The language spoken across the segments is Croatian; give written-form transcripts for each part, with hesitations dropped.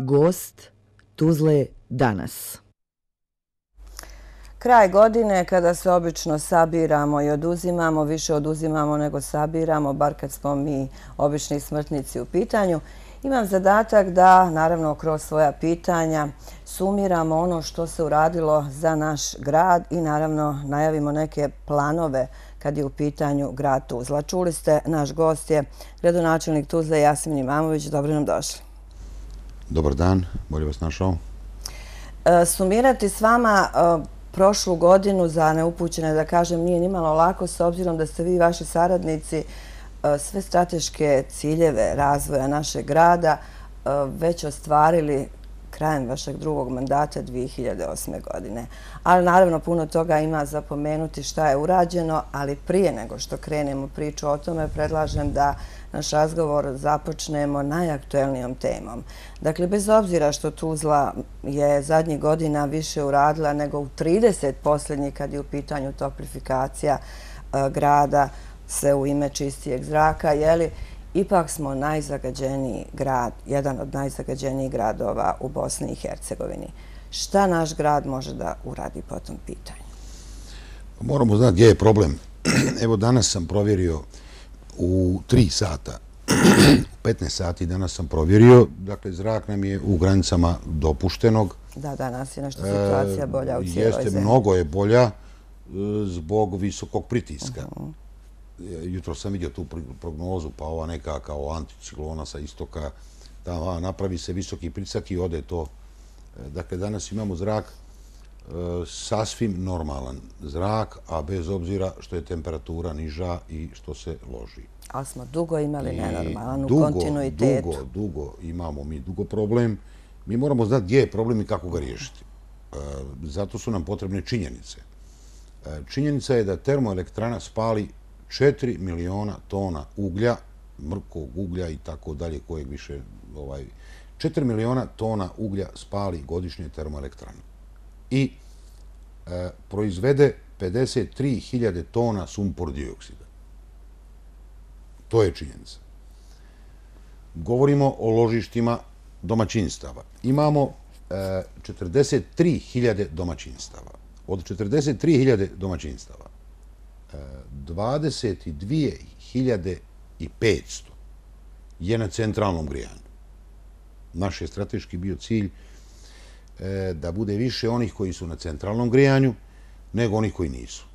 Gost Tuzle danas. Kraj godine kada se obično sabiramo i oduzimamo, više oduzimamo nego sabiramo, bar kad smo mi obični smrtnici u pitanju. Imam zadatak da, naravno, kroz svoja pitanja sumiramo ono što se uradilo za naš grad i naravno najavimo neke planove kad je u pitanju grad Tuzla. Čuli ste, naš gost je gradonačelnik Tuzle Jasmin Imamović. Dobro nam došli. Dobar dan, bolje vas našao. Sumirati s vama prošlu godinu za neupućene, da kažem, nije nimalo lako, s obzirom da ste vi i vaši saradnici sve strateške ciljeve razvoja našeg grada već ostvarili krajem vašeg drugog mandata 2008. godine. Ali naravno puno toga ima za pomenuti šta je urađeno, ali prije nego što krenemo priču o tome, predlažem da naš razgovor započnemo najaktuelnijom temom. Dakle, bez obzira što Tuzla je zadnjih godina više uradila nego u 30 posljednjih kad je u pitanju toplifikacija grada, sve u ime čistijeg zraka, ipak smo najzagađeniji grad, jedan od najzagađenijih gradova u Bosni i Hercegovini. Šta naš grad može da uradi po tom pitanju? Moramo znati gdje je problem. Evo, danas sam provjerio u 3 sata, u 15 sati danas sam provjerio, dakle, zrak nam je u granicama dopuštenog. Da, danas je nešto situacija bolja u cijeloj zemlji. Jeste, mnogo je bolja zbog visokog pritiska. Jutro sam vidio tu prognozu, pa ova neka kao anticiklona sa istoka, da napravi se visoki pritisak i ode to. Dakle, danas imamo zrak sasvim normalan zrak, a bez obzira što je temperatura niža i što se loži. Ali smo dugo imali nenormalan u kontinuitetu. Dugo imamo mi problem. Mi moramo znati gdje je problem i kako ga riješiti. Zato su nam potrebne činjenice. Činjenica je da termoelektrana spali 4 miliona tona uglja, mrkog uglja i tako dalje, kojeg više... 4 miliona tona uglja spali godišnje termoelektrana. I proizvede 53.000 tona sumpor dioksida. To je činjenica. Govorimo o ložištima domaćinstava. Imamo 43.000 domaćinstava. Od 43.000 domaćinstava 22.500 je na centralnom grijanju. Naš je strateški bio cilj da bude više onih koji su na centralnom grijanju nego onih koji nisu.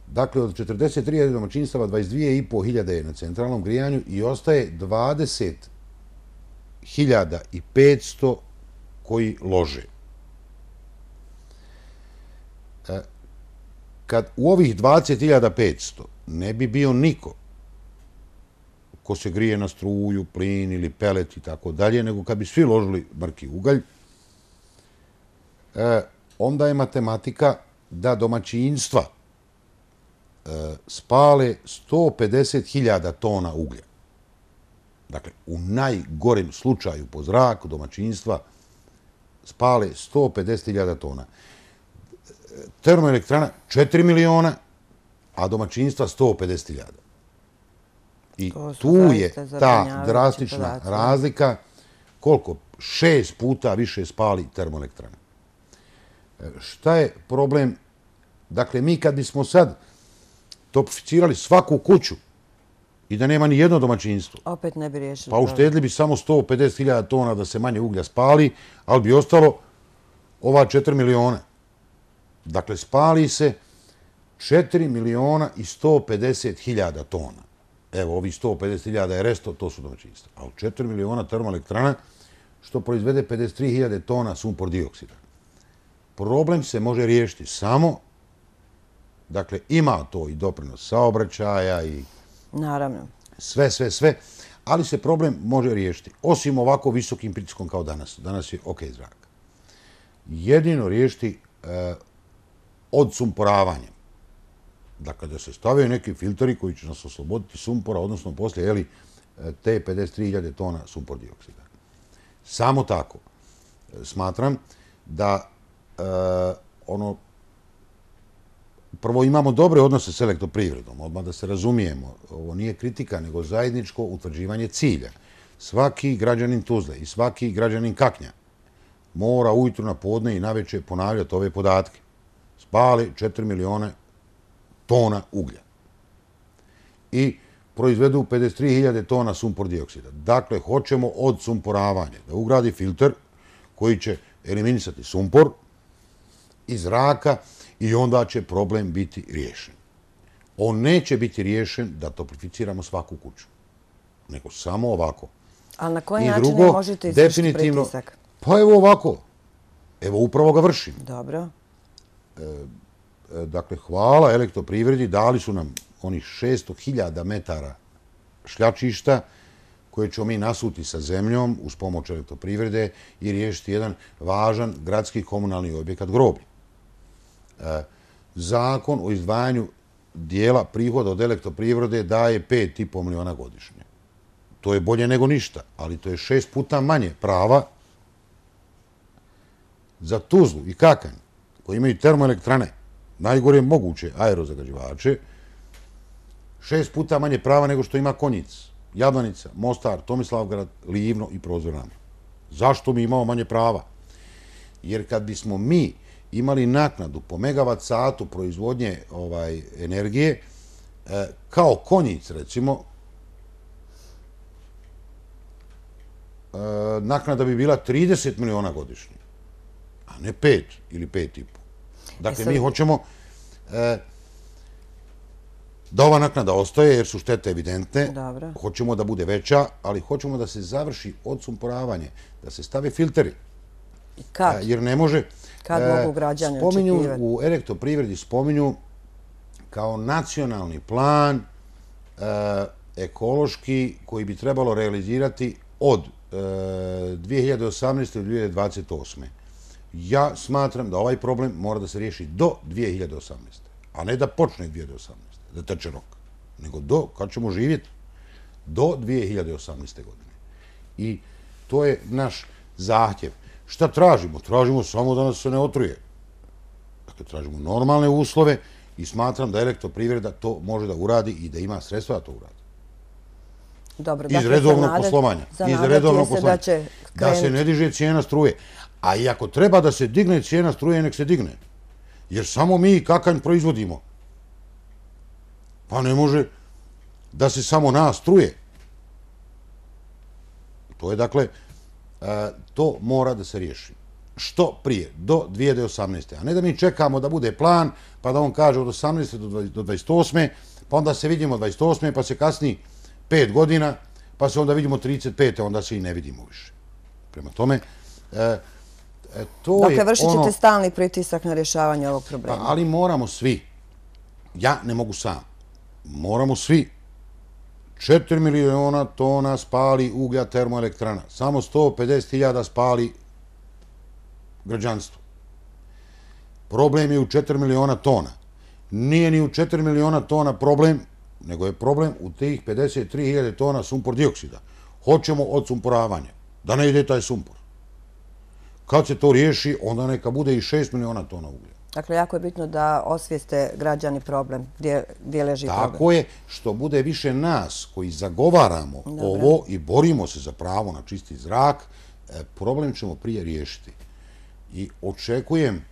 Dakle, od 43.000 domaćinstava 22.500 je na centralnom grijanju i ostaje 20.500 koji lože. Kad u ovih 20.500 ne bi bio niko ko se grije na struju, plin ili pelet i tako dalje, nego kad bi svi ložili mrki ugalj, onda je matematika da domaćinstva spale 150.000 tona uglja. Dakle, u najgorem slučaju po zraku domaćinstva spale 150.000 tona. Termoelektrana 4 miliona, a domaćinstva 150.000. I tu je ta drastična razlika, koliko? 6 puta više spali termoelektrana. Šta je problem? Dakle, mi kad bismo sad toplificirali svaku kuću i da nema ni jedno domaćinstvo, opet ne bi riješili. Pa uštedili bi samo 150.000 tona da se manje uglja spali, ali bi ostalo ova 4 miliona. Dakle, spali se 4 miliona i 150.000 tona. Evo, ovi 150.000 je resto, to su domaćinstva. Ali 4 miliona termoelektrana, što proizvede 53.000 tona sumpor dioksida. Problem se može riješiti samo, dakle, ima to i doprinos saobraćaja i... Naravno. Sve, ali se problem može riješiti. Osim ovako visokim pritiskom kao danas. Danas je ok zrak. Jedino riješiti odsumporavanjem. Dakle, da se stavaju neki filteri koji će nas osloboditi sumpora, odnosno poslije, te 53.000 tona sumpor dioksida. Samo tako. Smatram da prvo imamo dobre odnose s elektroprivredom, odmah da se razumijemo. Ovo nije kritika, nego zajedničko utvrđivanje cilja. Svaki građanin Tuzle i svaki građanin Kaknja mora ujutru na podne i naveče ponavljati ove podatke. Spale 4 miliona tona uglja. I proizvedu 53.000 tona sumpor dioksida. Dakle, hoćemo od sumporavanja da ugradi filter koji će eliminisati sumpor iz zraka i onda će problem biti riješen. On neće biti riješen da toplificiramo svaku kuću, nego samo ovako. Ali na koji način ne možete izvršiti pritisak? Pa evo ovako. Evo upravo ga vršim. Dobro. Dakle, hvala Elektroprivredi, dali su nam onih 600.000 metara šljačišta koje ćemo mi nasuti sa zemljom uz pomoć Elektroprivrede i riješiti jedan važan gradski komunalni objekat groblje. Zakon o izdvajanju dijela prihoda od Elektroprivrede daje 5,5 miliona godišnje. To je bolje nego ništa, ali to je 6 puta manje prava za Tuzlu i Kakanj, koji imaju termoelektrane, najgore moguće aerozagađivače, 6 puta manje prava nego što ima Konjic, Jablanica, Mostar, Tomislavgrad, Livno i Prozor Rama. Zašto mi imamo manje prava? Jer kad bismo mi imali naknadu po megavat satu proizvodnje energije, kao Konjic, recimo, naknada bi bila 30 miliona godišnje, a ne 5 ili 5,5. Dakle, mi hoćemo da ova naknada ostaje, jer su štete evidentne. Hoćemo da bude veća, ali hoćemo da se završi odsumporavanje, da se stave filteri. Kad? Jer ne može... Kad mogu građani očekivati? U Elektroprivredi spominju kao nacionalni plan ekološki koji bi trebalo realizirati od 2018. do 2028. Ja smatram da ovaj problem mora da se riješi do 2018. A ne da počne 2018. Da teče rok. Nego do, kad ćemo živjeti, do 2018. godine. I to je naš zahtjev. Šta tražimo? Tražimo samo da nas se ne otruje. Dakle, tražimo normalne uslove i smatram da Elektroprivreda to može da uradi i da ima sredstva da to uradi. Dobro, iz redovnog poslovanja. Da se ne diže cijena struje. A i ako treba da se digne cijena struje, nek se digne. Jer samo mi Kakanj proizvodimo. Pa ne može da se samo nas struje. To je, dakle, to mora da se riješi. Što prije, do 2018. A ne da mi čekamo da bude plan, pa da on kaže od 18. do 28. Pa onda se vidimo 28. pa se kasni 5 godina, pa se onda vidimo 35. onda se i ne vidimo više. Prema tome, to je ono... Dakle, vršit ćete stalni pritisak na rješavanje ovog problema. Ali moramo svi. Ja ne mogu sam. Moramo svi. 4 miliona tona spali uglja termoelektrana. Samo 150.000 spali građanstvo. Problem je u 4 miliona tona. Nije ni u 4 miliona tona problem, nego je problem u tih 53.000 tona sumpor dioksida. Hoćemo odsumporavanje. Da ne ide taj sumpor. Kad se to riješi, onda neka bude i 6 miliona tona uglja. Dakle, jako je bitno da osvijeste građani problem, gdje leži problem. Tako je, što bude više nas koji zagovaramo ovo i borimo se za pravo na čisti zrak, problem ćemo prije riješiti. I očekujem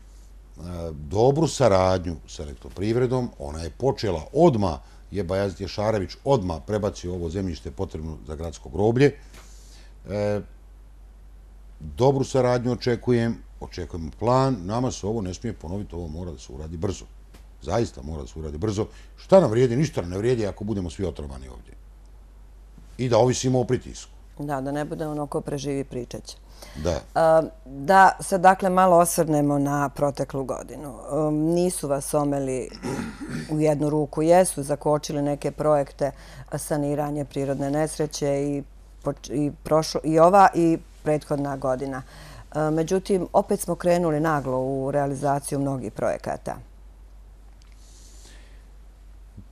dobru saradnju sa Elektroprivredom. Ona je počela odmah, je Bajazit Ješarević odmah prebacio ovo zemljište potrebno za gradsko groblje. Dobru saradnju očekujemo plan. Nama se ovo ne smije ponoviti, ovo mora da se uradi brzo. Zaista mora da se uradi brzo. Šta nam vrijedi? Ništa nam ne vrijedi ako budemo svi otrovani ovdje. I da ovisimo o pritisku. Da ne bude ono ko preživi pričać. Da. Da se dakle malo osvrnemo na proteklu godinu. Nisu vas omeli u jednu ruku, jesu zakočili neke projekte saniranje prirodne nesreće i ova i prethodna godina. Međutim, opet smo krenuli naglo u realizaciju mnogih projekata.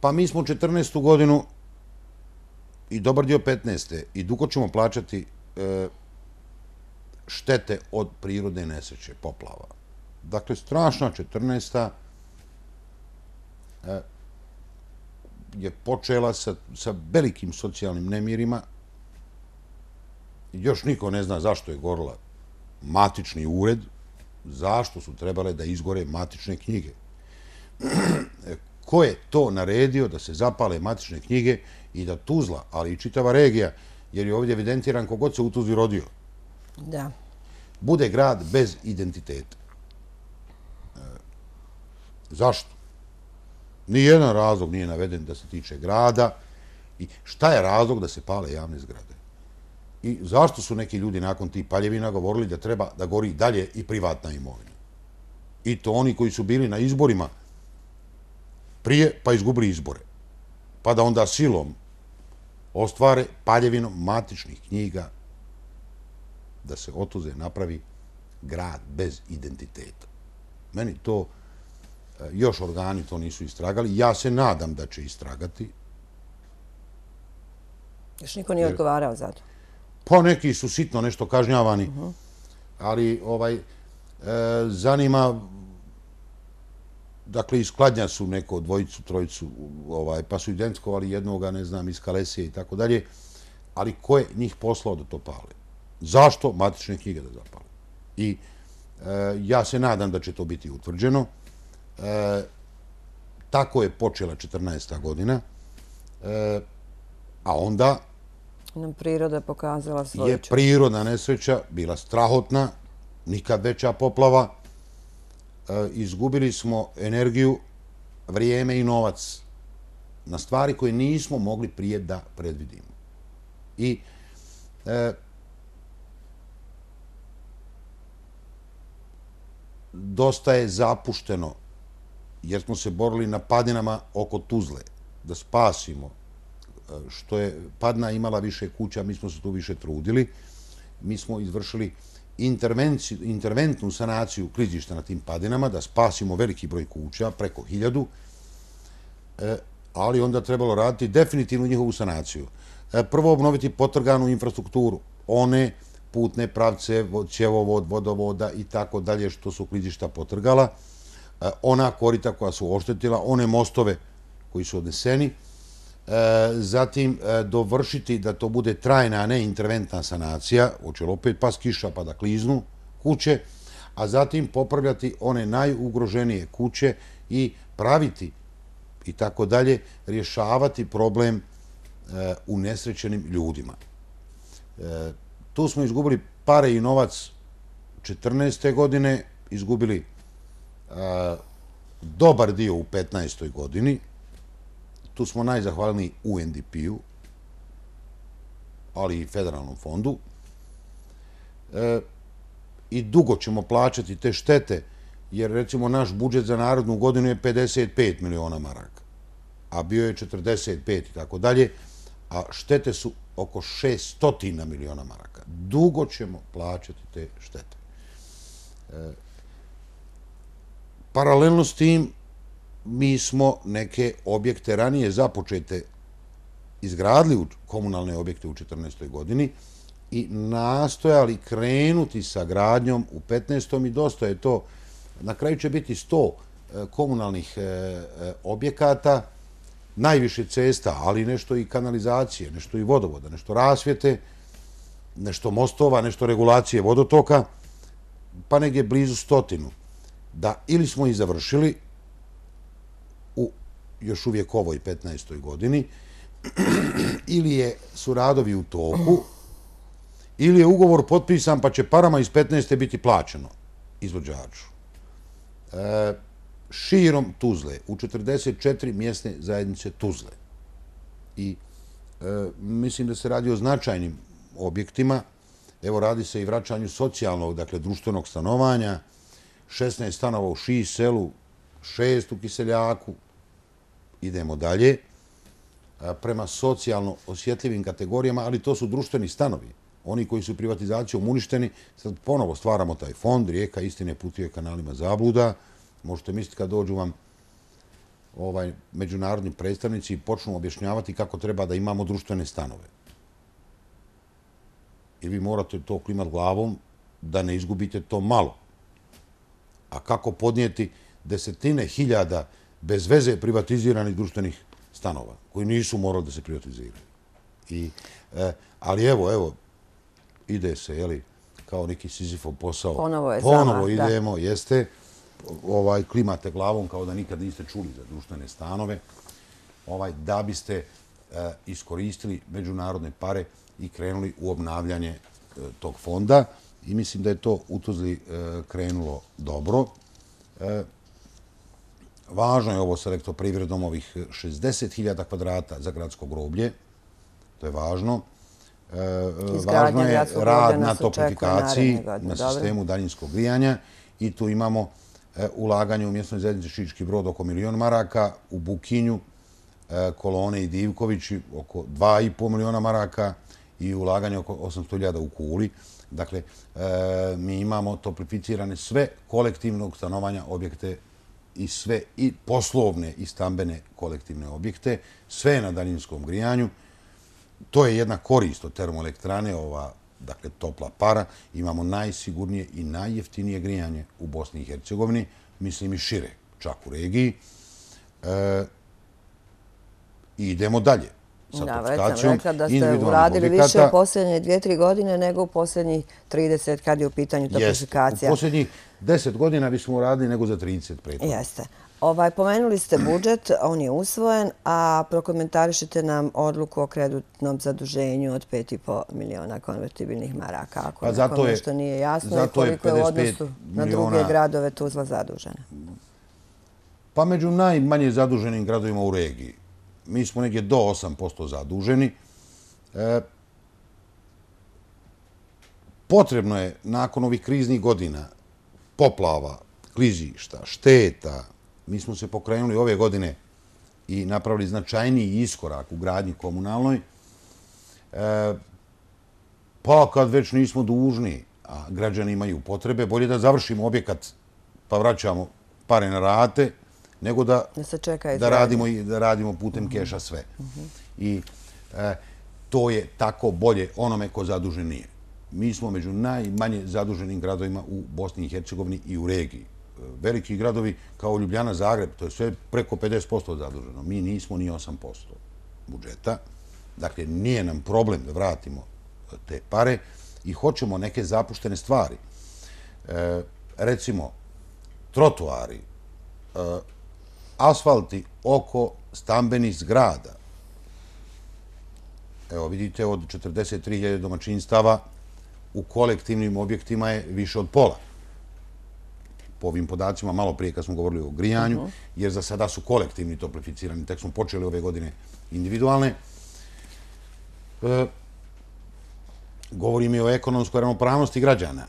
Pa mi smo 14. godinu i dobar dio 15. i dugo ćemo plaćati štete od prirodne nesreće, poplava. Dakle, strašna 14. je počela sa velikim socijalnim nemirima. Još niko ne zna zašto je gorila matični ured, zašto su trebale da izgore matične knjige? Ko je to naredio da se zapale matične knjige i da Tuzla, ali i čitava regija, jer je ovdje evidentiran kogod se u Tuzli rodio, bude grad bez identiteta? Zašto? Nijedan razlog nije naveden da se tiče grada. I šta je razlog da se pale javne zgrade? I zašto su neki ljudi nakon tih paljevina govorili da treba da gori dalje i privatna imovina? I to oni koji su bili na izborima prije, pa izgubili izbore. Pa da onda silom ostvare paljevinom matičnih knjiga da se otuze napravi grad bez identiteta. Meni to, još organi to nisu istragali. Ja se nadam da će istragati. Još niko nije odgovarao za to? Pa neki su sitno nešto kažnjavani, ali zanima, dakle, iz Kladnja su neko dvojicu, trojicu, pa su identifikovali jednoga, ne znam, iz Kalesije i tako dalje, ali ko je njih poslao da to pale? Zašto matične knjige da zapale? I ja se nadam da će to biti utvrđeno. Tako je počela 14. godina, a onda nam priroda pokazala svoju je prirodna nesreća bila strahotna, nikad veća poplava. Izgubili smo energiju, vrijeme i novac na stvari koje nismo mogli prije da predvidimo. I dosta je zapušteno, jer smo se borili na padinama oko Tuzle, da spasimo. Što je Padna imala više kuća, mi smo se tu više trudili. Mi smo izvršili interventnu sanaciju klizišta na tim padinama, da spasimo veliki broj kuća, preko 1000, ali onda trebalo raditi definitivnu njihovu sanaciju. Prvo obnoviti potrganu infrastrukturu, one putne pravce, cjevovod, vodovoda i tako dalje što su klizišta potrgala, ona korita koja su oštetila, one mostove koji su odneseni, zatim dovršiti da to bude trajna, a ne interventna sanacija, hoće li opet pas kiša pa da kliznu kuće, a zatim popravljati one najugroženije kuće i praviti i tako dalje, rješavati problem unesrećenim ljudima. Tu smo izgubili pare i novac 14. godine, izgubili dobar dio u 15. godini. Tu smo najzahvalniji UNDP-u, ali i Federalnom fondu. I dugo ćemo plaćati te štete, jer recimo naš budžet za narodnu godinu je 55 miliona maraka, a bio je 45 i tako dalje, a štete su oko 600 miliona maraka. Dugo ćemo plaćati te štete. Paralelno s tim, mi smo neke objekte ranije započete izgradili u komunalne objekte u 14. godini i nastojali krenuti sa gradnjom u 15. i dosta je to. Na kraju će biti 100 komunalnih objekata, najviše cesta, ali nešto i kanalizacije, nešto i vodovoda, nešto rasvjete, nešto mostova, nešto regulacije vodotoka, pa negdje blizu 100. Da ili smo i završili u još uvijek ovoj 15. godini, ili su radovi u toku, ili je ugovor potpisan pa će parama iz 15. biti plaćeno izvođaču. Širom Tuzle, u 44 mjesne zajednice Tuzle. I mislim da se radi o značajnim objektima. Evo, radi se i vraćanju socijalnog, dakle, društvenog stanovanja, 16 stanova u Šiji selu, 6 u Kiseljaku. Idemo dalje. Prema socijalno osjetljivim kategorijama, ali to su društveni stanovi. Oni koji su privatizacijom uništeni, sad ponovo stvaramo taj fond, Rijeka istine putuje kanalima zabluda. Možete misliti kad dođu vam međunarodni predstavnici i počnu objašnjavati kako treba da imamo društvene stanove. I vi morate to klimati glavom da ne izgubite to malo. A kako podnijeti desetine hiljada bez veze privatiziranih društvenih stanova, koji nisu morali da se privatiziraju. Ali evo, ide se, kao neki Sizifov posao. Ponovo idemo, jeste. Klimate glavom kao da nikad niste čuli za društvene stanove, da biste iskoristili međunarodne pare i krenuli u obnavljanje tog fonda. I mislim da je to u Tuzli krenulo dobro. Važno je ovo sa Elektroprivredom, ovih 60.000 kvadrata za gradsko groblje. To je važno. Važno je rad na toplifikaciji, na sistemu daljinskog grijanja i tu imamo ulaganje u mjesnoj zajednici Šiški Brod oko 1.000.000 maraka, u Bukinju, Kolone i Divkovići oko 2,5 miliona maraka i ulaganje oko 800.000 u Kuli. Dakle, mi imamo toplificirane sve kolektivnog stanovanja objekte i sve i poslovne i stambene kolektivne objekte, sve na daljinskom grijanju. To je jedna korist od termoelektrane, dakle, topla para. Imamo najsigurnije i najjeftinije grijanje u Bosni i Hercegovini, mislim i šire, čak u regiji. I idemo dalje sa toplifikacijom. Već sam rekla da ste uradili više u posljednje 2-3 godine nego u posljednjih 30 kad je u pitanju toplifikacija. U posljednjih 10 godina bismo uradili nego za 30 prethodno. Jeste. Pomenuli ste budžet, on je usvojen, a prokomentarišite nam odluku o kreditnom zaduženju od 5,5 miliona konvertibilnih maraka. Ako nekom nešto nije jasno i koliko je u odnosu na druge gradove Tuzla zadužena. Pa među najmanje zaduženim gradovima u regiji. Mi smo negdje do 8% zaduženi. Potrebno je nakon ovih kriznih godina, poplava, klizišta, šteta, mi smo se pokrenuli ove godine i napravili značajniji iskorak u gradnji komunalnoj. Pa kad već nismo dužni, a građani imaju potrebe, bolje da završimo objekat pa vraćamo pare na rate, nego da radimo putem keša sve. I to je tako bolje onome ko zadužen nije. Mi smo među najmanje zaduženim gradovima u Bosni i Hercegovini i u regiji. Veliki gradovi kao Ljubljana, Zagreb, to je sve preko 50% zaduženo. Mi nismo ni 8% budžeta. Dakle, nije nam problem da vratimo te pare i hoćemo neke zapuštene stvari. Recimo, trotoari, asfalti oko stambenih zgrada. Evo, vidite, od 43.000 domaćinstava u kolektivnim objektima je više od pola. Po ovim podacima, malo prije kad smo govorili o grijanju, jer za sada su kolektivni toplificirani, tek smo počeli ove godine individualne. Govorim i o ekonomskoj ravnopravnosti građana.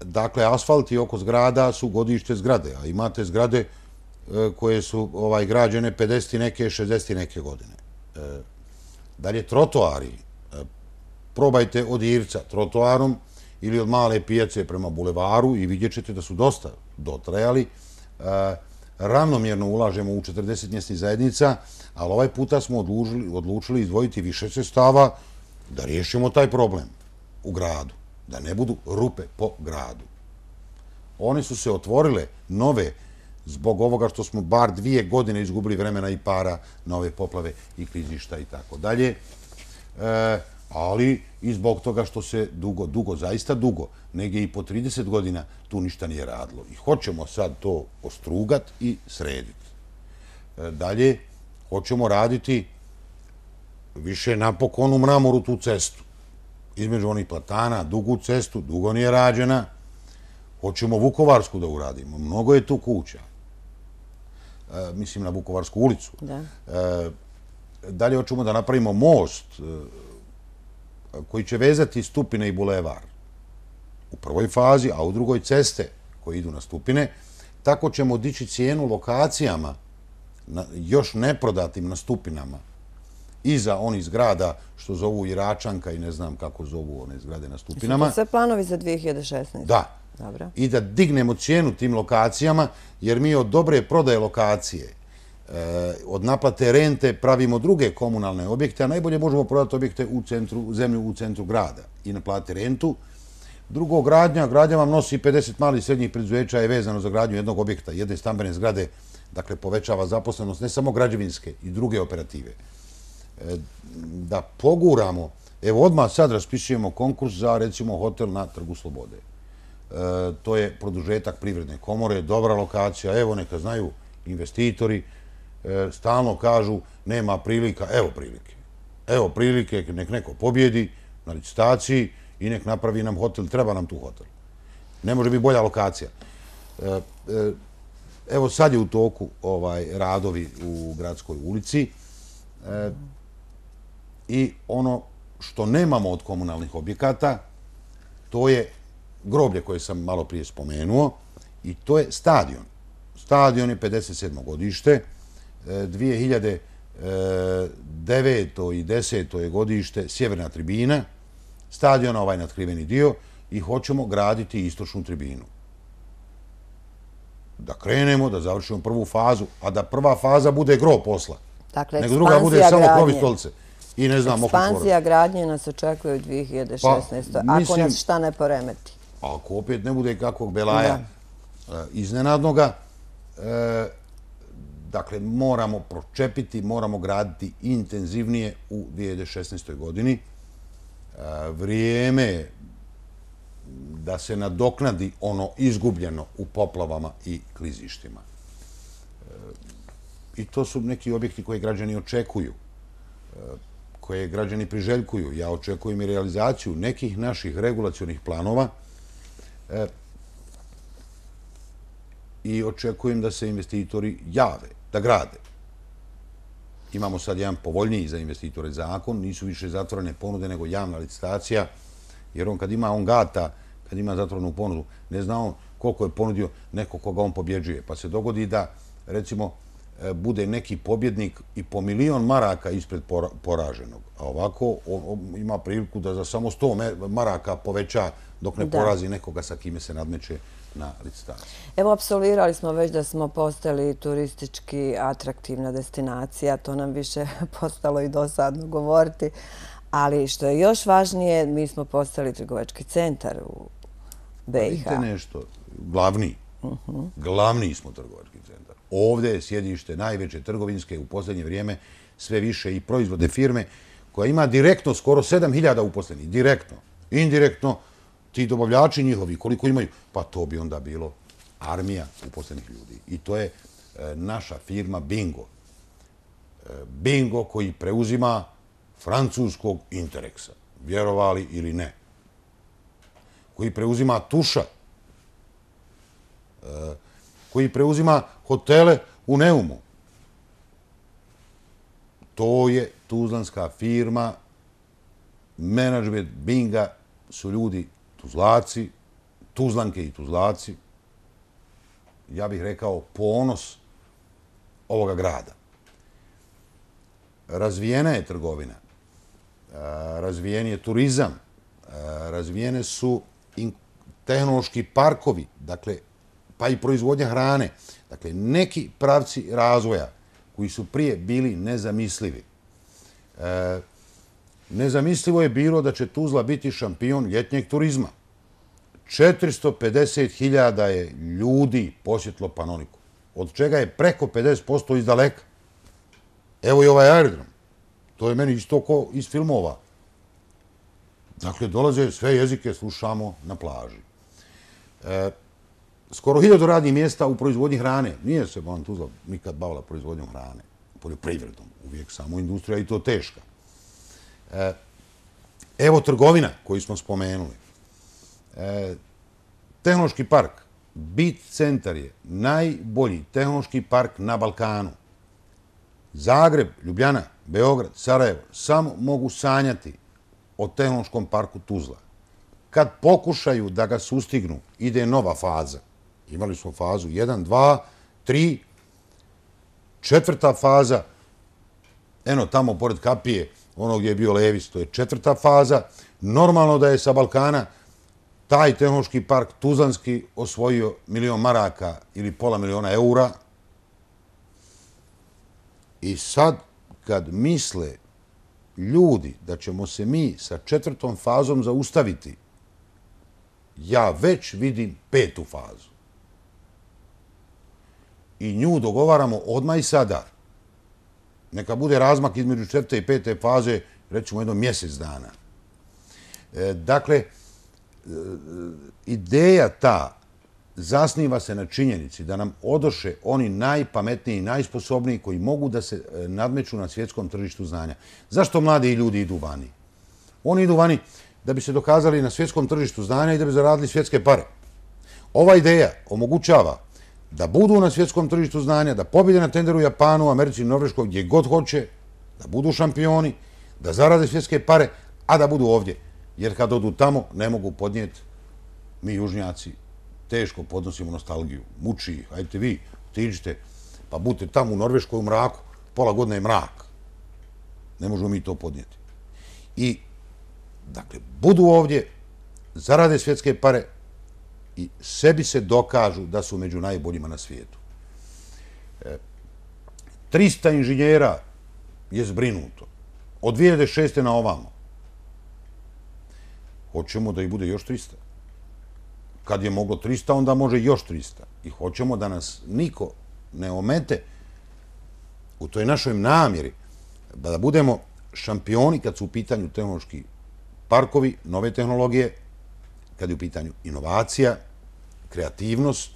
Dakle, asfalti oko zgrada su godište zgrade, a imate zgrade koje su građene 50 neke, 60 neke godine. Dalje, trotoari. Probajte od Irca trotoarom ili od Male pijace prema bulevaru i vidjet ćete da su dosta dotrajali. Ravnomjerno ulažemo u 40 mjesnih zajednica, ali ovaj puta smo odlučili izdvojiti više sredstava da riješimo taj problem u gradu, da ne budu rupe po gradu. One su se otvorile nove zbog ovoga što smo bar 2 godine izgubili vremena i para na ove poplave i klizišta i tako dalje. Ali i zbog toga što se dugo, zaista dugo, negdje i po 30 godina tu ništa nije radilo. I hoćemo sad to ostrugat i srediti. Dalje, hoćemo raditi više napokon u mramoru tu cestu. Između onih platana, dugu cestu, dugo nije rađena. Hoćemo Vukovarsku da uradimo. Mnogo je tu kuća. Mislim na Vukovarsku ulicu. Dalje hoćemo da napravimo most koji će vezati Stupine i bulevar u prvoj fazi, a u drugoj ceste koje idu na Stupine. Tako ćemo dići cijenu lokacijama još neprodatim na Stupinama iza onih zgrada što zovu Iračanka i ne znam kako zovu one zgrade na Stupinama. Su to sve planovi za 2016? Da. I da dignemo cijenu tim lokacijama, jer mi od dobre prodaje lokacije, od naplate rente pravimo druge komunalne objekte, a najbolje možemo prodati objekte u zemlju u centru grada i naplatiti rentu. Drugo, gradnja vam nosi 50 malih i srednjih preduzeća je vezano za gradnju jednog objekta, jedne stambene zgrade, dakle povećava zaposlenost ne samo građevinske i druge operative. Da poguramo Evo, odmah sad raspisujemo konkurs za, recimo, hotel na Trgu Slobode. To je produžetak Privredne komore, dobra lokacija, evo, neka znaju investitori, stalno kažu, nema prilika, evo prilike. Evo prilike, nek neko pobjedi na licitaciji i nek napravi nam hotel, treba nam tu hotel. Ne može biti bolja lokacija. Evo sad je u toku radovi u Gradskoj ulici i ono što nemamo od komunalnih objekata, to je groblje koje sam malo prije spomenuo i to je stadion. Stadion je 57. godište, 2009. i 10. je godište sjeverna tribina, stadiona ovaj natkriveni dio i hoćemo graditi istočnu tribinu. Da krenemo, da završimo prvu fazu, a da prva faza bude gro posla. Dakle, nego druga bude samo krov i stolice. I ne znam, ekspanzija gradnje nas očekuje u 2016. Ako nas šta ne poremeti. Ako opet ne bude kakvog belaja iznenadnoga, dakle, moramo pročepiti, moramo graditi intenzivnije u 2016. godini. Vrijeme je da se nadoknadi ono izgubljeno u poplavama i klizištima. I to su neki objekti koje građani očekuju, koje građani priželjkuju. Ja očekujem i realizaciju nekih naših regulacionih planova i očekujem da se investitori jave, da grade. Imamo sad jedan povoljniji za investitore zakon, nisu više zatvorene ponude nego javna licitacija, jer on kad ima gata, kad ima zatvorenu ponudu, ne zna on koliko je ponudio neko koga on pobjeđuje. Pa se dogodi da, recimo, bude neki pobjednik i po 1.000.000 maraka ispred poraženog. A ovako on ima priliku da za samo 100 maraka poveća dok ne porazi nekoga sa kime se nadmeće na licitaciji. Evo, apsolvirali smo već da smo postali turistički atraktivna destinacija. To nam više postalo i dosadno govoriti. Ali što je još važnije, mi smo postali trgovački centar u BiH. Vidite nešto, glavni smo trgovački centar. Ovdje je sjedište najveće trgovinske u posljednje vrijeme, sve više i proizvodne firme, koja ima direktno skoro 7.000 uposlenih. Direktno. Indirektno, ti dobavljači njihovi, koliko imaju, pa to bi onda bilo armija uposlenih ljudi. I to je naša firma Bingo. Bingo koji preuzima francuskog Interexa, vjerovali ili ne. Koji preuzima Tuša, koji preuzima hotele u Neumu. To je tuzlanska firma, menadžment Binga su ljudi Tuzlaci, Tuzlanke i Tuzlaci. Ja bih rekao ponos ovoga grada. Razvijena je trgovina, razvijen je turizam, razvijene su tehnološki parkovi, dakle, pa i proizvodnja hrane. Dakle, neki pravci razvoja koji su prije bili nezamislivi. Nezamislivo je bilo da će Tuzla biti šampion ljetnjeg turizma. 450.000 je ljudi posjetilo Panoniku, od čega je preko 50% iz daleka. Evo i ovaj aerodrom. To je meni isto ko iz filmova. Dakle, dolaze sve jezike, slušamo na plaži. Skoro 1000 radnih mjesta u proizvodnji hrane. Nije se Tuzla nikad bavila proizvodnjom hrane, poljoprivredom, uvijek samo industrija i to teška. Evo trgovina koju smo spomenuli. Tehnološki park, BIT centar je najbolji tehnološki park na Balkanu. Zagreb, Ljubljana, Beograd, Sarajevo samo mogu sanjati o tehnološkom parku Tuzla. Kad pokušaju da ga sustignu, ide nova faza. Imali smo fazu 1, 2, 3, 4. faza, eno tamo pored kapije, ono gdje je bio Levis, to je 4. faza. Normalno da je sa Balkana taj tehnološki park tuzlanski osvojio 1.000.000 maraka ili $500.000 eura. I sad, kad misle ljudi da ćemo se mi sa 4. fazom zaustaviti, ja već vidim 5. fazu. I nju dogovaramo odmah i sada. Neka bude razmak između 4. i 5. faze, recimo jedno mjesec dana. Dakle, ideja ta zasniva se na činjenici da nam odoše oni najpametniji i najsposobniji koji mogu da se nadmeću na svjetskom tržištu znanja. Zašto mladi ljudi idu vani? Oni idu vani da bi se dokazali na svjetskom tržištu znanja i da bi zaradili svjetske pare. Ova ideja omogućava da budu na svjetskom tržištu znanja, da pobjede na tenderu u Japanu, Americi, Norveškoj, gdje god hoće, da budu šampioni, da zarade svjetske pare, a da budu ovdje. Jer kad odu tamo, ne mogu podnijeti, mi južnjaci teško podnosimo nostalgiju. Muči ih, hajte vi, otiđite, pa budite tamo u Norveškoj u mraku, pola godine je mrak. Ne možemo mi to podnijeti. I, dakle, budu ovdje, zarade svjetske pare i sebi se dokažu da su među najboljima na svijetu. 300 inženjera je zbrinuto. Od 2006. na ovamo. Hoćemo da ih bude još 300. Kad je moglo 300, onda može još 300. I hoćemo da nas niko ne omete u toj našoj namjeri da budemo šampioni kad su u pitanju tehnološki parkovi, nove tehnologije, kad je u pitanju inovacija, kreativnost.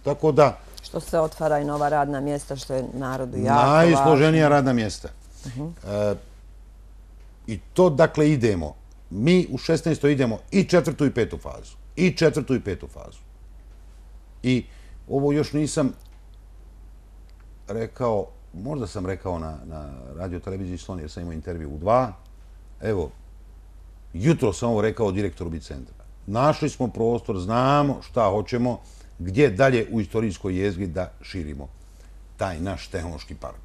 Tako da... Što se otvara i nova radna mjesta, što je narodu jako važno. Najsloženija radna mjesta. I to, dakle, idemo. Mi u 16. idemo i 4. i 5. fazu. I 4. i 5. fazu. I ovo još nisam rekao, možda sam rekao na radio televiziji Slon, jer sam imao intervju u 2. Evo, jutro sam ovo rekao direktoru Bicentra. Našli smo prostor, znamo šta hoćemo, gdje dalje u istorijskoj jezgri da širimo taj naš tehnološki park.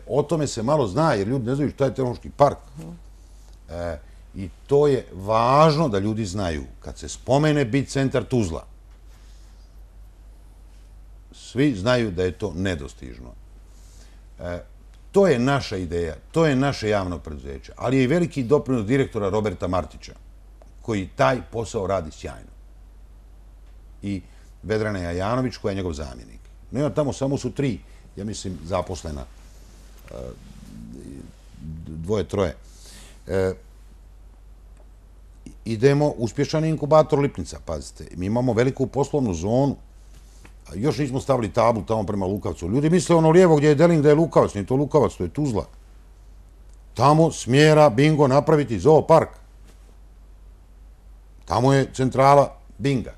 O tome se malo zna, jer ljudi ne znaju šta je tehnološki park. I to je važno da ljudi znaju. Kad se spomene Bicentar Tuzla, svi znaju da je to nedostižno. To je naša ideja, to je naše javno preduzeće, ali je i veliki doprinos direktora Roberta Martića, koji taj posao radi sjajno. I Vedrana Jajanović, koja je njegov zamjenik. Nema tamo, samo su 3, ja mislim, zaposlena. 2, 3. Idemo, uspješan inkubator Lipnica, pazite. Mi imamo veliku poslovnu zonu. Još nismo stavili tablu tamo prema Lukavcu. Ljudi misle ono lijevo gdje je Deling da je Lukavac. Nije to Lukavac, to je Tuzla. Tamo smjera bingo napraviti zoopark. Tamo je centrala binga.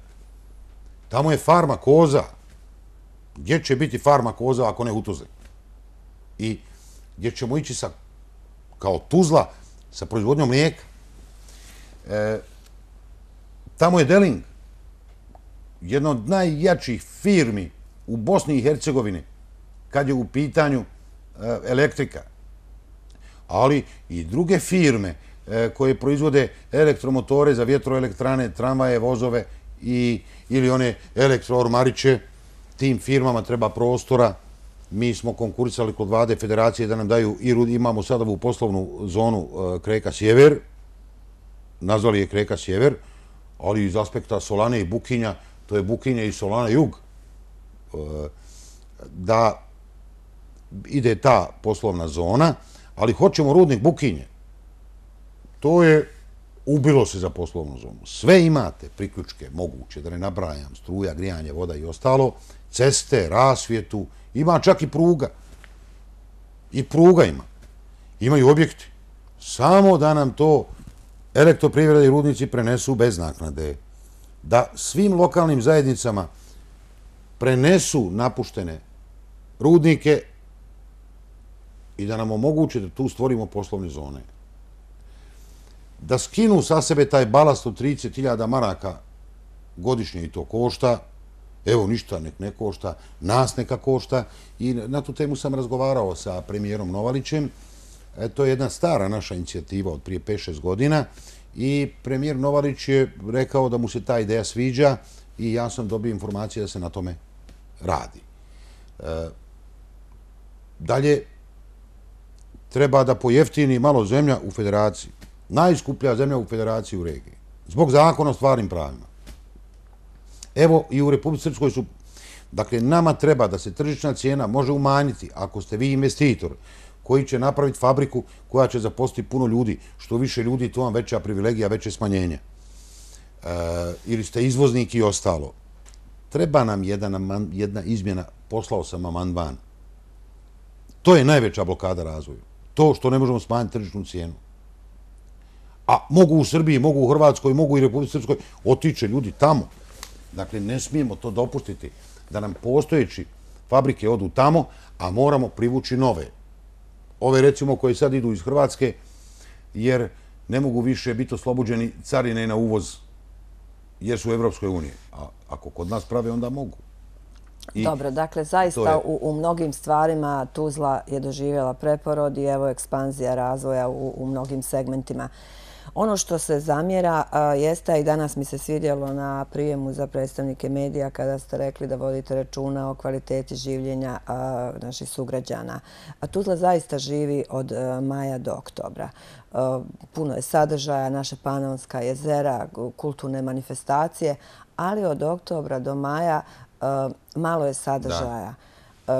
Tamo je farma koza. Gdje će biti farma koza ako ne u Tuzli? I gdje ćemo ići kao Tuzla sa proizvodnjom mlijeka. Tamo je Deling, jedna od najjačih firmi u Bosni i Hercegovini kad je u pitanju elektrika. Ali i druge firme koje proizvode elektromotore za vjetroelektrane, tramvaje, vozove ili one elektroormariće. Tim firmama treba prostora. Mi smo konkurisali kod vlade federacije da nam daju imamo sad ovu poslovnu zonu Kreka Sjever, nazvali je Kreka Sjever, ali iz aspekta Solane i Bukinja, to je Bukinja i Solana Jug, da ide ta poslovna zona, ali hoćemo rudnik Bukinje. To je ubilo se za poslovnu zonu. Sve imate, priključke moguće, da ne nabrajam, struja, grijanje, voda i ostalo, ceste, rasvjetu, ima čak i pruga. I pruga ima. Imaju objekti. Samo da nam to elektroprivreda i rudnici prenesu bez naknade. Da svim lokalnim zajednicama prenesu napuštene rudnike i da nam omoguće da tu stvorimo poslovne zone. Da skinu sa sebe taj balast od 30.000 maraka godišnje i to košta. Evo, ništa nek ne košta, nas neka košta. I na tu temu sam razgovarao sa premijerom Novalićem. To je jedna stara naša inicijativa od prije 5-6 godina i premijer Novalić je rekao da mu se ta ideja sviđa i ja sam dobio informacije da se na tome radi. Dalje, treba da pojeftini malo zemlja u federaciji. Najskuplja zemlja u federaciji u regiji. Zbog zakona o stvarnim pravima. Evo, i u Republici Srpskoj su... Dakle, nama treba da se tržišna cijena može umanjiti ako ste vi investitor koji će napraviti fabriku koja će zaposliti puno ljudi. Što više ljudi, to vam veća privilegija, veće smanjenje. Ili ste izvoznik i ostalo. Treba nam jedna izmjena, poslao sam amandman. To je najveća blokada razvoju. To što ne možemo smanjiti tržišnu cijenu. A mogu u Srbiji, mogu u Hrvatskoj, mogu i Republici Srpskoj, otiće ljudi tamo. Dakle, ne smijemo to dopustiti da nam postojeći fabrike odu tamo, a moramo privući nove. Ove, recimo, koje sad idu iz Hrvatske, jer ne mogu više biti oslobođeni carine na uvoz, jer su u Evropskoj uniji. A ako kod nas prave, onda mogu. Dobro, dakle, zaista u mnogim stvarima Tuzla je doživjela preporod i evo ekspanzija razvoja u mnogim segmentima. Ono što se zamjera jeste, i danas mi se svidjelo na prijemu za predstavnike medija kada ste rekli da vodite računa o kvaliteti življenja naših sugrađana. Tuzla zaista živi od maja do oktobra. Puno je sadržaja, naše Panonska jezera, kulturne manifestacije, ali od oktobra do maja malo je sadržaja.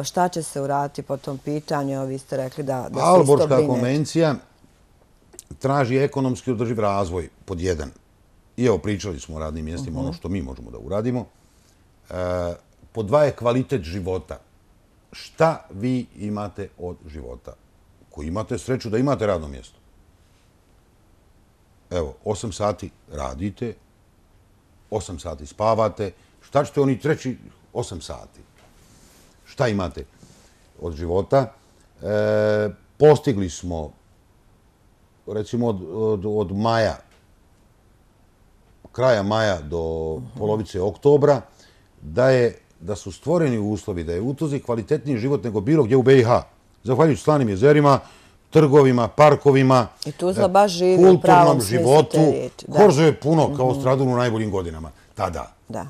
Šta će se uraditi po tom pitanju? Vi ste rekli da se isto brinete. Aalborška konvencija traži ekonomski održiv razvoj, pod jedan. I evo, pričali smo o radnim mjestima, ono što mi možemo da uradimo. Pod dva je kvalitet života. Šta vi imate od života? Koji imate sreću da imate radno mjesto. Evo, 8 sati radite, 8 sati spavate. Šta ćete oni treći 8 sati? Šta imate od života? Postigli smo, recimo od maja, kraja maja do polovice oktobra, da su stvoreni uslovi, da je u Tuzli kvalitetniji život nego bilo gdje u BiH. Zahvaljujući slanim jezerima, trgovima, parkovima, i Tuzla baš živi u pravom smislu te riječi. Korzo je puno kao Stradun u najboljim godinama. Tada. Da.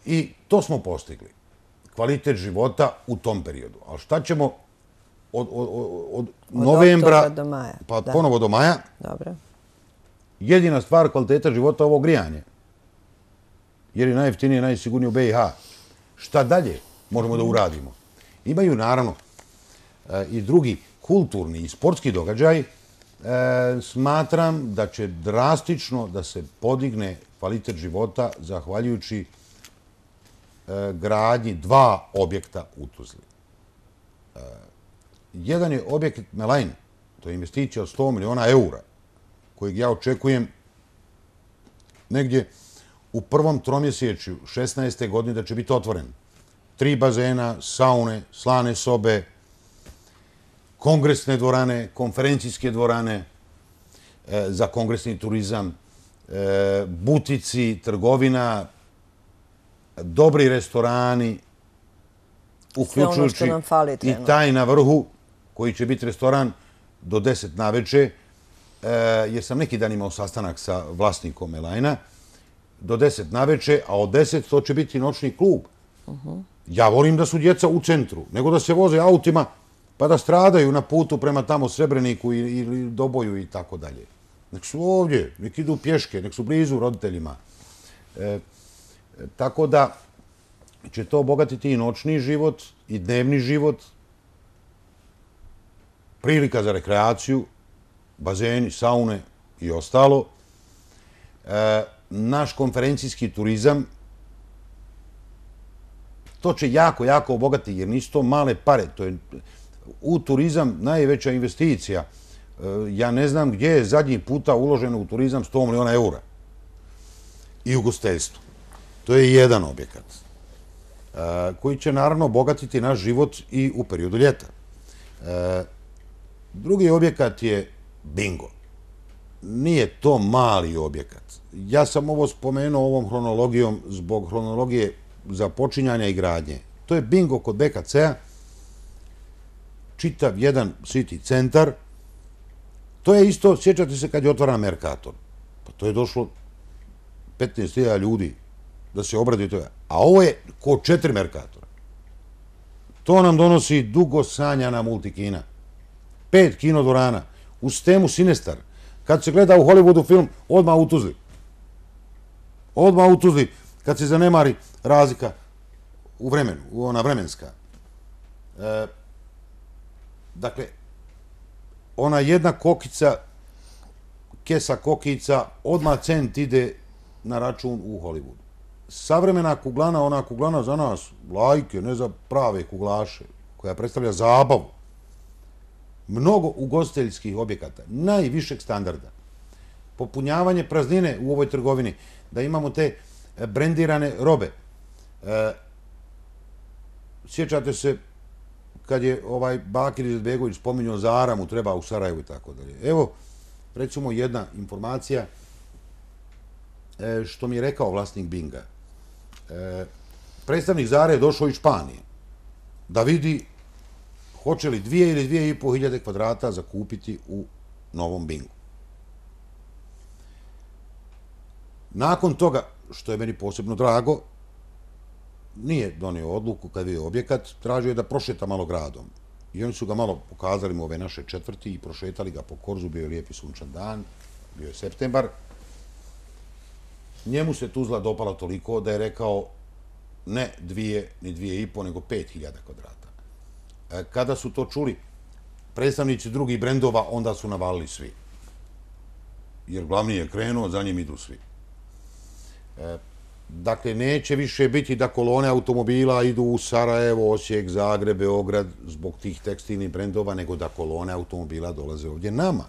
I to smo postigli. Kvalitet života u tom periodu. Ali šta ćemo od novembra do maja. Pa ponovo do maja? Dobro. Jedina stvar kvaliteta života je ovo grijanje. Jer je najjeftinije i najsigurnije u BiH. Šta dalje možemo da uradimo? Imaju, naravno, i drugi kulturni i sportski događaj. Smatram da će drastično da se podigne kvalitet života zahvaljujući gradnji 2 objekta u Tuzli. Jedan je objekat Melain, to je investicija od 100 miliona eura, kojeg ja očekujem negdje u prvom tromjesečju 16. godine da će biti otvoren. 3 bazena, saune, slane sobe, kongresne dvorane, konferencijske dvorane za kongresni turizam, butici, trgovina, dobri restorani, uključujući i taj na vrhu, koji će biti restoran do 10 naveče, jer sam neki dan imao sastanak sa vlasnikom Melaina, do 10 naveče, a od 10 to će biti noćni klub. Ja volim da su djeca u centru, nego da se voze autima pa da stradaju na putu prema tamo Srebreniku ili Doboju i tako dalje. Nek su ovdje, nek idu pješke, nek su blizu roditeljima. Tako da će to obogatiti i noćni život, i dnevni život, prilika za rekreaciju, bazeni, saune i ostalo. Naš konferencijski turizam, to će jako, jako obogatiti, jer nisu to male pare. To je u turizam najveća investicija. Ja ne znam gdje je zadnji puta uloženo u turizam 100 miliona eura. I ugostiteljstvo. To je jedan objekat koji će naravno obogatiti naš život i u periodu ljeta. Drugi objekat je bingo. Nije to mali objekat. Ja sam ovo spomenuo ovom hronologijom zbog hronologije započinjanja i gradnje. To je bingo kod BKC-a, čitav jedan city centar. To je isto, sjećate se kad je otvaran Mercator. Pa to je došlo 15.000 ljudi da se obraduju toga. A ovo je ko 4 Mercatora. To nam donosi dugo sanjana multikina. 5 kinodvorana. Uz temu Sinestar. Kad se gleda u Hollywoodu film, odmah u Tuzli. Odmah u Tuzli. Kad se zanemari razlika u vremenu, ona vremenska. Dakle, ona jedna kokica, kesa kokica, odmah cent ide na račun u Hollywoodu. Savremena kuglana, ona kuglana za nas, lajke, ne za prave kuglaše, koja predstavlja zabavu. Mnogo ugostiteljskih objekata, najvišeg standarda. Popunjavanje praznine u ovoj trgovini, da imamo te brendirane robe. Sjećate se kad je Bakir Izetbegović spominjao Zara mu treba u Sarajevu i tako dalje. Evo, recimo jedna informacija što mi je rekao vlasnik Binga. Predstavnik Zare je došao iz Španije da vidi hoće li 2 ili 2.500 kvadrata zakupiti u novom Bingu. Nakon toga, što je meni posebno drago, nije donio odluku kad je objekat, tražio je da prošeta malo gradom. I oni su ga malo pokazali mu ove naše četvrti i prošetali ga po Korzu, bio je lijepi sunčan dan, bio je septembar. Njemu se Tuzla dopala toliko da je rekao ne 2 ni 2.500, nego 5.000 kvadrata. Kada su to čuli predstavnici drugih brendova, onda su navalili svi. Jer glavni je krenuo, za njim idu svi. Dakle, neće više biti da kolone automobila idu u Sarajevo, Osijek, Zagreb, Beograd zbog tih tekstilnih brendova, nego da kolone automobila dolaze ovdje nama.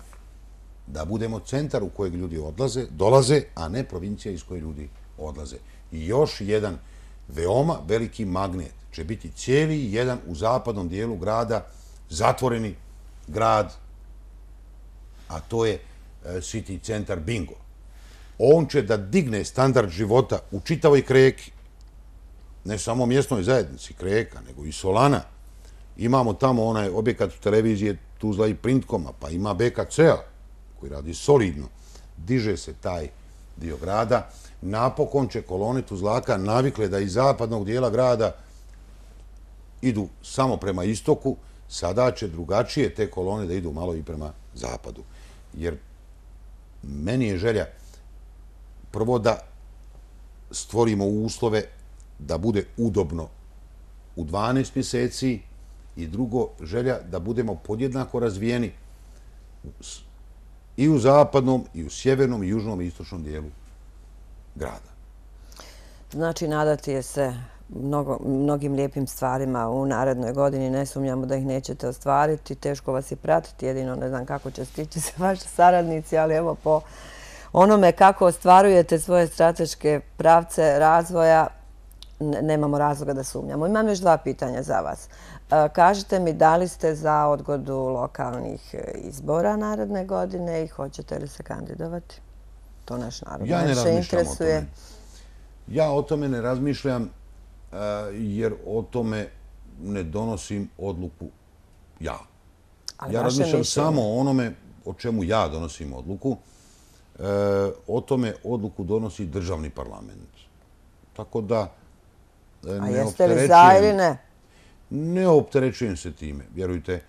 Da budemo centar u kojeg ljudi dolaze, a ne provincija iz koje ljudi odlaze. I još jedan veoma veliki magnet će biti cijeli jedan u zapadnom dijelu grada, zatvoreni grad, a to je City centar Bingo. On će da digne standard života u čitavoj Kreki, ne samo mjesnoj zajednici Kreka, nego i Solana. Imamo tamo onaj objekat televizije Tuzla i Printkoma, pa ima BKC-a koji radi solidno. Diže se taj dio grada. Napokon će kolone Tuzlaka navikle da iz zapadnog dijela grada idu samo prema istoku, sada će drugačije te kolone da idu malo i prema zapadu. Jer meni je želja prvo da stvorimo uslove da bude udobno u 12 mjeseci i drugo, želja da budemo podjednako razvijeni i u zapadnom, i u sjevernom, i južnom, i istočnom dijelu grada. Znači, nadati je se mnogim lijepim stvarima u narednoj godini. Ne sumnjamo da ih nećete ostvariti. Teško vas je pratiti, jedino ne znam kako će stići se vaši saradnici, ali evo po onome kako ostvarujete svoje strateške pravce razvoja, nemamo razloga da sumnjamo. Imam još 2 pitanja za vas. Kažite mi, da li ste za odgodu lokalnih izbora naredne godine i hoćete li se kandidovati? To naš narod najviše interesuje. Ja o tome ne razmišljam jer o tome ne donosim odluku ja. Ja razmišljam samo o onome o čemu ja donosim odluku. O tome odluku donosi državni parlament. Tako da a jeste li za ili ne? Ne opterećujem se time, vjerujte.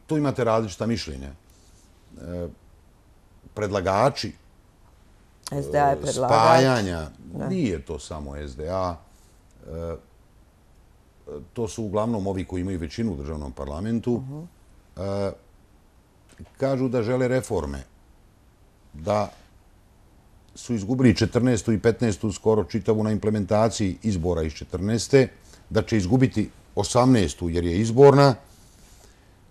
Tu imate različita mišljenja. Predlagači spajanja, nije to samo SDA, to su uglavnom ovi koji imaju većinu u državnom parlamentu, kažu da žele reforme, da su izgubili 14. i 15. skoro čitavu na implementaciji izbora iz 14. da će izgubiti 18. jer je izborna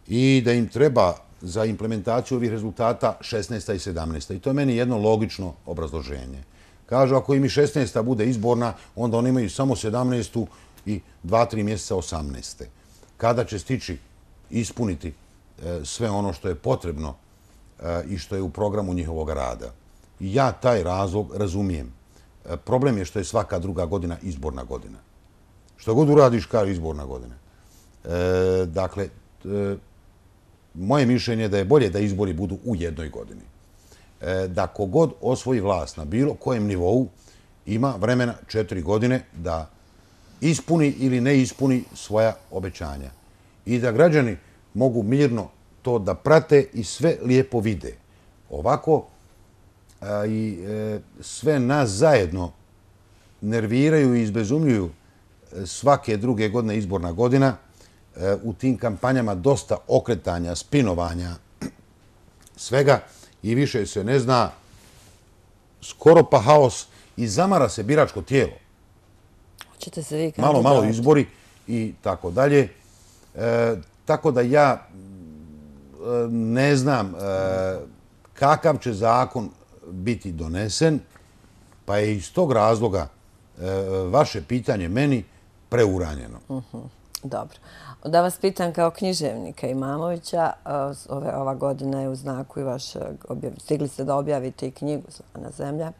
i da im treba za implementaciju ovih rezultata 16. i 17. I to je meni jedno logično obrazloženje. Kažu, ako im i 16. bude izborna, onda oni imaju samo 17. i 2-3 mjeseca 18. Kada će stići ispuniti sve ono što je potrebno i što je u programu njihovog rada. I ja taj razlog razumijem. Problem je što je svaka druga godina izborna godina. Što god uradiš, kaže izborna godina. Dakle, moje mišljenje je da je bolje da izbori budu u jednoj godini. Da kogod osvoji vlast na bilo kojem nivou ima vremena 4 godine da ispuni ili ne ispuni svoja obećanja. I da građani mogu mirno to da prate i sve lijepo vide. Ovako i sve nas zajedno nerviraju i izbezumljuju svake druge godine izborna godina u tim kampanjama dosta okretanja, spinovanja, svega i više se ne zna, skoro pa haos i zamara se biračko tijelo. Hoćete se vi kandidirati? Malo izbori i tako dalje. Tako da ja ne znam kakav će zakon biti donesen, pa je iz tog razloga vaše pitanje meni preuranjeno. Dobro. Da vas pitam kao književnika Imamovića, ova godina je u znaku i stigli ste da objavite i knjigu Slana zemlja.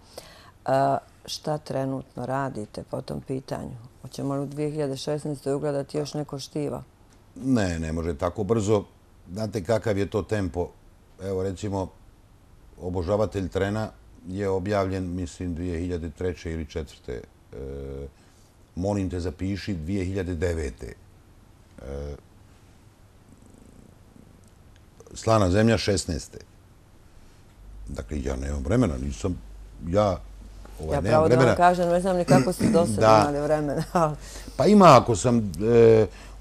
Šta trenutno radite po tom pitanju? Hoćemo li u 2016. ugledati još neko štivo? Ne može tako brzo. Znate kakav je to tempo. Evo recimo, Obožavatelj trena je objavljen, mislim, 2003. ili 2004. Molim te zapiši 2009. Slana zemlja 16. Dakle, ja nemam vremena, nisam... Ja pravo da vam kažem, ne znam ni kako ste do sada imali vremena. Pa ima, ako sam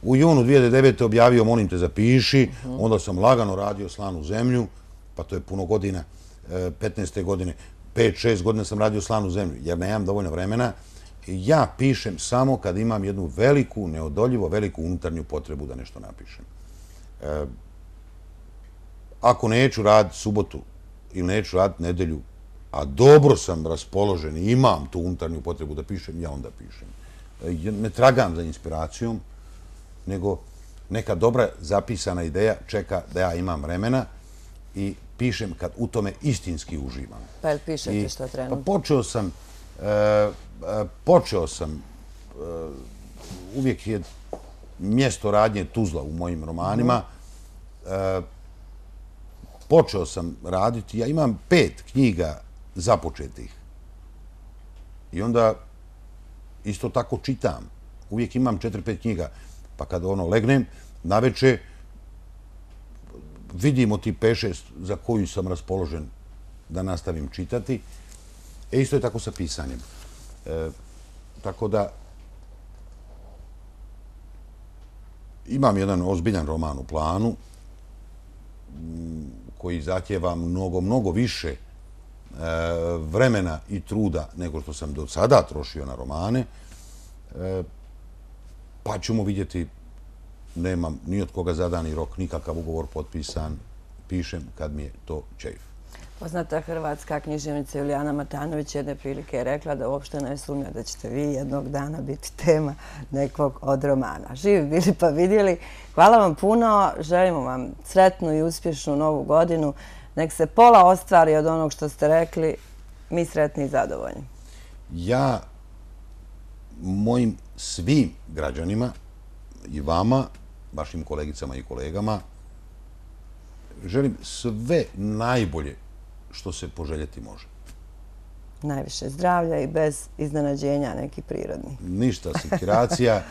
u junu 2009. objavio Molim te zapiši, onda sam lagano radio Slanu zemlju, pa to je puno godina, 15. godine, 5-6 godina sam radio Slanu zemlju, jer nemam dovoljno vremena. Ja pišem samo kad imam jednu veliku, neodoljivo veliku unutarnju potrebu da nešto napišem. Ako neću raditi subotu ili neću raditi nedelju, a dobro sam raspoložen i imam tu unutarnju potrebu da pišem, ja onda pišem. Ne tragam za inspiracijom, nego neka dobra zapisana ideja čeka da ja imam vremena i pišem kad u tome istinski uživam. Pa jel pišete što trenutno? Počeo sam, uvijek je mjesto radnje Tuzla u mojim romanima. Počeo sam raditi, ja imam 5 knjiga započetih. I onda isto tako čitam. Uvijek imam 4-5 knjiga. Pa kad legnem, naveče vidimo ti 5-6 za koju sam raspoložen da nastavim čitati. Isto je tako sa pisanjem. Tako da imam jedan ozbiljan roman u planu koji zahtjeva mnogo više vremena i truda nego što sam do sada trošio na romane. Pa ćemo vidjeti, nemam ni od koga zadani rok, nikakav ugovor potpisan, pišem kad mi je to čeif. Poznata hrvatska književnica Julijana Matanović jedne prilike je rekla da uopšte ne sumnja da ćete vi jednog dana biti tema nekog od romana. Živi bili pa vidjeli. Hvala vam puno, želimo vam sretnu i uspješnu novu godinu. Nek se pola ostvari od onog što ste rekli, mi sretni i zadovoljni. Ja mojim svim građanima i vama, vašim kolegicama i kolegama, želim sve najbolje što se poželjeti može. Najviše zdravlja i bez iznenađenja neki prirodni. Ništa sekiracija,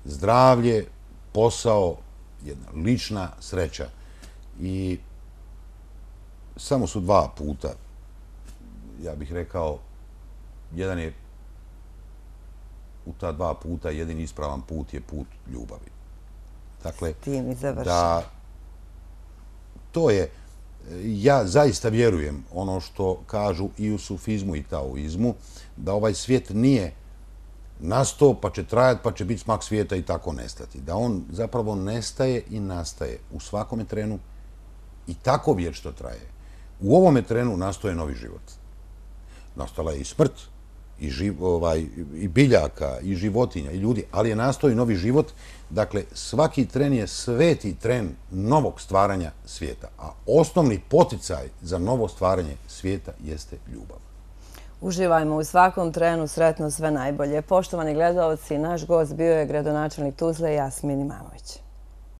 zdravlje, posao, jedna lična sreća. I samo su 2 puta, ja bih rekao, jedan je u ta 2 puta, jedini ispravan put je put ljubavi. Dakle, tim i završeno. To je, ja zaista vjerujem ono što kažu i u sufizmu i taoizmu, da ovaj svijet nije nastao, pa će trajati, pa će biti smak svijeta i tako nestati. Da on zapravo nestaje i nastaje u svakome trenu i tako vječno traje. U ovome trenu nastoje novi život. Nastala je i smrt, i biljaka, i životinja, i ljudi, ali je nastao i novi život. Dakle, svaki tren je sveti tren novog stvaranja svijeta, a osnovni poticaj za novo stvaranje svijeta jeste ljubav. Uživajmo u svakom trenu, sretno, sve najbolje. Poštovani gledalci, naš gost bio je gradonačelnik Tuzle Jasmin Imamović.